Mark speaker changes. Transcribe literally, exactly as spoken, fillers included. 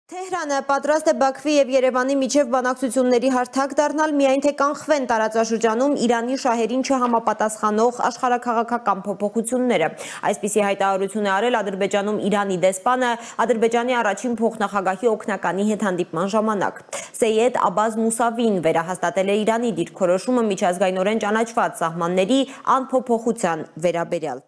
Speaker 1: Թեհրանը պատրաստ է Բաքվի և Երևանի միջև բանակցությունների հարթակ դառնալ, միայն թե կանխվեն տարածաշրջանում Իրանի շահերին չհամապատասխանող աշխարհաքաղաքական փոփոխությունները։ Այսպիսի հայտարարություն է արել Ադրբեջանում Իրանի դեսպանը Ադրբեջանի առաջին փոխնախագահի օգնականի հետ հանդիպման ժամանակ։ Սեյեդ Աբազ Մուսավին վերահաստատել է Իրանի դիրքորոշումը միջազգայնորեն ճանաչված սահմանների անփոփոխության վերաբերյալ։